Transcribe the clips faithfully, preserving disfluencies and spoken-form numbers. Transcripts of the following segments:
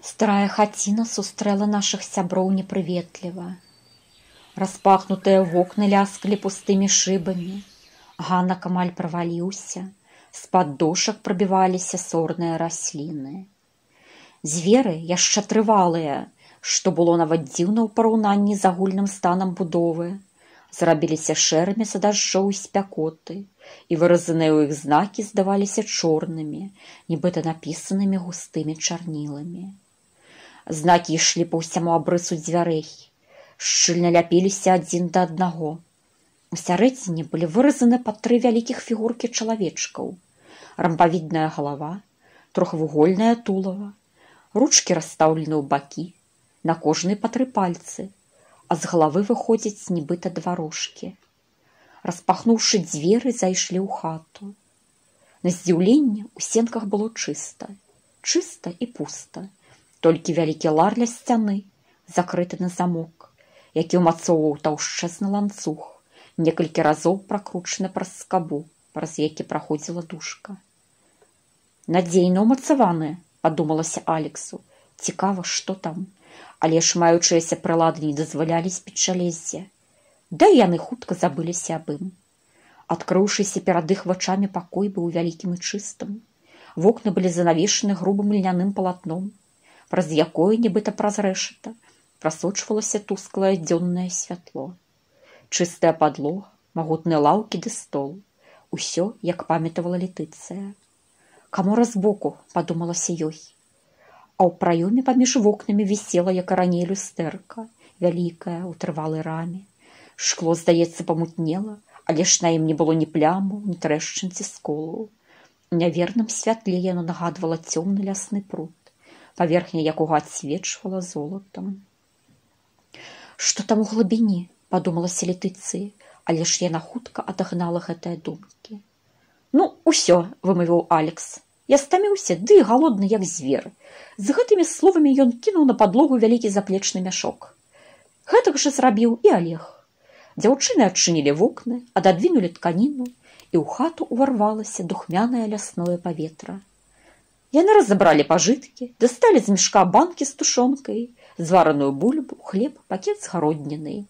Старая хаціна сустрэла нашых сяброў непрыветліва. Распахнутыя вокны ляскалі пустымі шыбамі, ганак амаль праваліўся, з-пад дошак прабіваліся сорныя расліны. Зверы, яшчэ трывалыя, што было нават дзіўна ў параўнанні з агульным станам будовы, зрабіліся шэрымі за дажджоў і спякоты, і выразаныя ў іх знакі здаваліся чорнымі, нібыта напісанымі густымі чарніламі. Знакі ішлі па ўсяму абрысу дзвярэй, шчыльна ляпіліся адзін да аднаго. Усярэдзіне былі выразаны па тры вялікіх фігуркі чалавечкаў: рамбавідная галава, трохвугольнае тулава, ручкі расстаўлены ў бакі, на кожнай па тры пальцы, а з галавы выходзяць нібыта два рожкі. Распахнуўшы дзверы, зайшлі ў хату. На здзіўленне ў сенках было чыста, чыста і пуста. Толькі вялікі лар ля сцяны, закрыты на замок, які ўмацоўваў таўшчэзны ланцуг, некалькі разоў пракручаны праз скабу, праз які праходзіла душка. «Надзейна ўмацаваны», – падумалася Алексу. «Цікава, што там?» Але ж маючыяся прылады не дазвалялі спіць жалеззе. Да і яны хутка забыліся аб ім. Адкрыўшыся перад іх вачамі пакой быў вялікім і чыстым. Вокны былі занавешаны грубым льняным палатном, праз якое, нібыта праз рэшата, прасочвалася тусклае дзённае святло. Чыстая падлога, магутныя лаўкі ды стол. Усё, як памятавала Летыцыя. «Камора збоку», – падумалася ёй. А ў праёме паміж вокнамі вісела, як і раней, люстэрка, вялікая, у трывалай раме. Шкло, здаецца, памутнела, але ж на ім не было ні пляму, ні трэшчынці сколу. У няверным святле яно нагадвала цёмны лясны пруд, паверхня якога адсвечвала золатам. «Што там у глыбіні?» – падумалася Летыцыя, але ж яна хутка адагнала гэтыя думкі. «Ну, усё», – вымавіў Алекс. «Я стаміўся, ды і галодны, як звер». З гэтымі словамі ён кінуў на падлогу вялікі заплечны мяшок. Гэтак жа зрабіў і Олег. Дзяўчыны адчынілі вокны, ададвінулі тканіну, і ў хату ўварвалася духмянае лясное паветра. Яны разабралі пажыткі, дасталі з мяшка банкі з тушонкай, звараную бульбу, хлеб, пакет з гароднінай.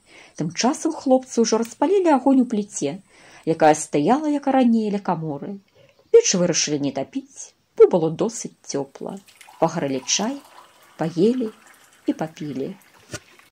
Тым часам хлопцы ўжо распалілі агонь у пліце, якая стаяла, як і раней, ля каморы. Печ вырашылі не тапіць, бо было досыць цёпла. Пагрэлі чай, паелі і папілі.